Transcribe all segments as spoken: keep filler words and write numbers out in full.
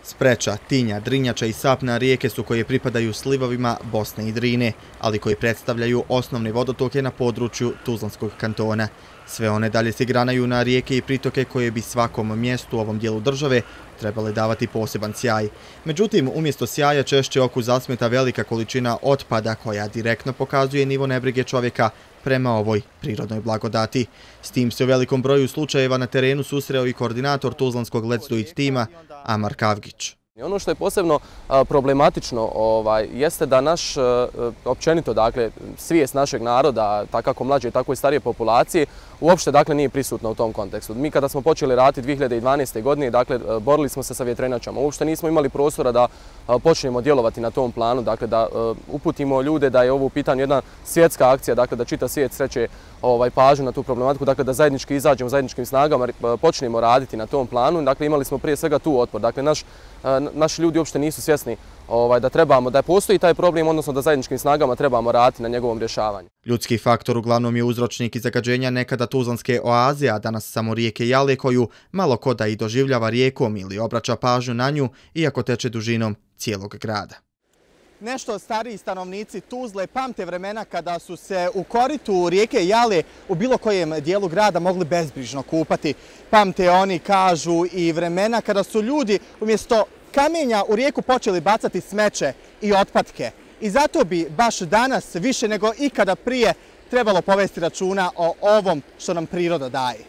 Spreča, Tinja, Drinjača i Sapna rijeke su koje pripadaju slivovima Bosne i Drine, ali koji predstavljaju osnovne vodotoke na području Tuzlanskog kantona. Sve one dalje se granaju na rijeke i pritoke koje bi svakom mjestu u ovom dijelu države trebale davati poseban sjaj. Međutim, umjesto sjaja češće oku zasmeta velika količina otpada koja direktno pokazuje nivo nebrige čovjeka prema ovoj prirodnoj blagodati. S tim se u velikom broju slučajeva na terenu susreo i koordinator Tuzlanskog Let's Do It tima Amar Kavgić. Ono što je posebno problematično ovaj, jeste da naš, općenito, dakle, svijest našeg naroda, tako kako mlađe, tako i starije populacije, uopšte dakle, nije prisutna u tom kontekstu. Mi kada smo počeli raditi dvije hiljade dvanaeste. godine, dakle, borili smo se sa vjetrenjačama. Uopšte nismo imali prostora da počnemo djelovati na tom planu, dakle, da uputimo ljude da je ovo u pitanju jedna svjetska akcija, dakle, da čitav svijet sreće ovaj, pažnju na tu problematiku, dakle, da zajednički izađemo zajedničkim snagama, počnemo raditi na tom planu. Dakle, imali smo prije svega tu otpor. Dakle, naš naši ljudi uopšte nisu svjesni ovaj, da trebamo, da postoji taj problem, odnosno da zajedničkim snagama trebamo raditi na njegovom rješavanju. Ljudski faktor uglavnom je uzročnik i zagađenja nekada tuzlanske oaze, a danas samo rijeke Jale koju malo ko da i doživljava rijekom ili obraća pažnju na nju, iako teče dužinom cijelog grada. Nešto stariji stanovnici Tuzle pamte vremena kada su se u koritu rijeke Jale u bilo kojem dijelu grada mogli bezbrižno kupati. Pamte oni, kažu, i vremena kada su ljudi umjesto kamenja u rijeku počeli bacati smeće i otpadke. I zato bi baš danas više nego ikada prije trebalo povesti računa o ovom što nam priroda daje.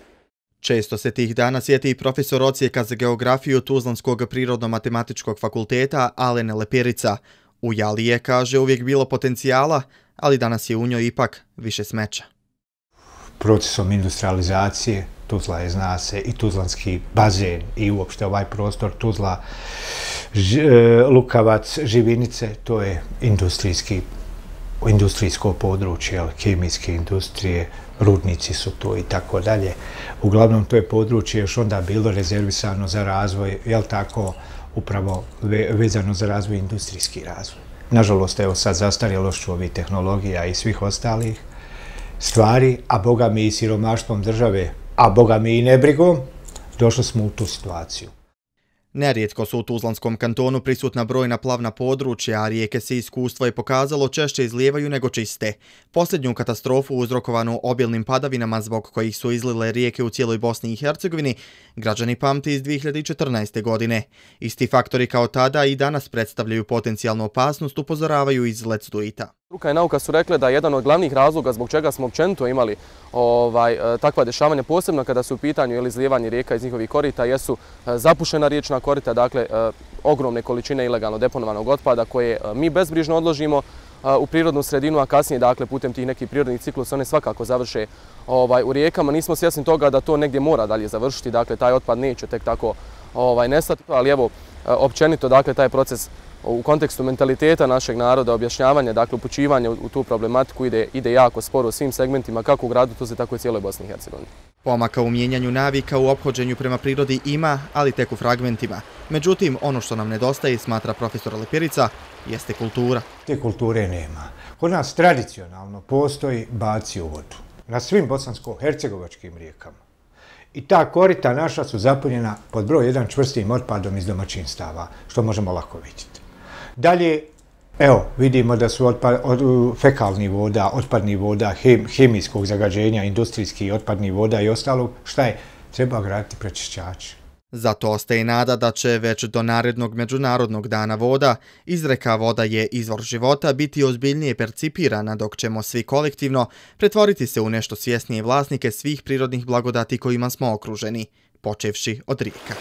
Često se tih dana sjeti i profesor odsjeka za geografiju Tuzlanskog prirodno-matematičkog fakulteta Alen Lepirica. U Jali je, kaže, uvijek bilo potencijala, ali danas je u njoj ipak više smeća. Procesom industrializacije Tuzla je, zna se, i Tuzlanski bazen i uopšte ovaj prostor Tuzla, Lukavac, Živinice, to je industrijski, industrijsko područje, kemijske industrije, rudnici su to i tako dalje. Uglavnom to je područje još onda bilo rezervisano za razvoj, jel tako, upravo vezano za razvoj, industrijski razvoj. Nažalost, evo sad zastarjelošću ovih tehnologija i svih ostalih stvari, a boga mi i siromaštvom države, a boga mi i nebrigom, došli smo u tu situaciju. Nerijetko su u Tuzlanskom kantonu prisutna brojna plavna područja, a rijeke se iskustvo je pokazalo češće izlijevaju nego čiste. Posljednju katastrofu uzrokovanu obilnim padavinama zbog kojih su izlile rijeke u cijeloj Bosni i Hercegovini, građani pamti iz dvije hiljade četrnaeste. godine. Isti faktori kao tada i danas predstavljaju potencijalnu opasnost, upozoravaju iz Let's Do It-a. Struka i nauka su rekle da je jedan od glavnih razloga zbog čega smo općenito imali ovaj, takva dešavanja, posebno kada su u pitanju ili izlijevanje rijeka iz njihovih korita, jesu zapušena riječna korita, dakle ogromne količine ilegalno deponovanog otpada koje mi bezbrižno odložimo u prirodnu sredinu, a kasnije, dakle, putem tih nekih prirodnih ciklusa one svakako završe ovaj, u rijekama. Nismo svjesni toga da to negdje mora dalje završiti, dakle, taj otpad neće tek tako ovaj, nestati, ali evo, općenito, dakle, taj proces u kontekstu mentaliteta našeg naroda, objašnjavanja, dakle, upućivanja u tu problematiku ide, ide jako sporo u svim segmentima, kako u gradu Tuzli, tako i cijeloj Bosni i Hercegovini. Pomaka u mijenjanju navika u ophođenju prema prirodi ima, ali tek u fragmentima. Međutim, ono što nam nedostaje, smatra profesor Lepirica, jeste kultura. Te kulture nema. Kod nas tradicionalno postoji baci u vodu na svim bosansko-hercegovačkim rijekama. I ta korita naša su zapunjena pod broj jedan čvrstim otpadom iz domaćinstava, što možemo lako vidjeti. Dalje, evo, vidimo da su otpad, od, fekalnih voda, otpadnih voda, hem, hemijskog zagađenja, industrijskih otpadnih voda i ostalog. Šta je? Treba graditi prečišćače. Zato ostaje nada da će već do narednog Međunarodnog dana voda izreka "Voda je izvor života" biti ozbiljnije percipirana, dok ćemo svi kolektivno pretvoriti se u nešto svjesnije vlasnike svih prirodnih blagodati kojima smo okruženi, počevši od rijeka.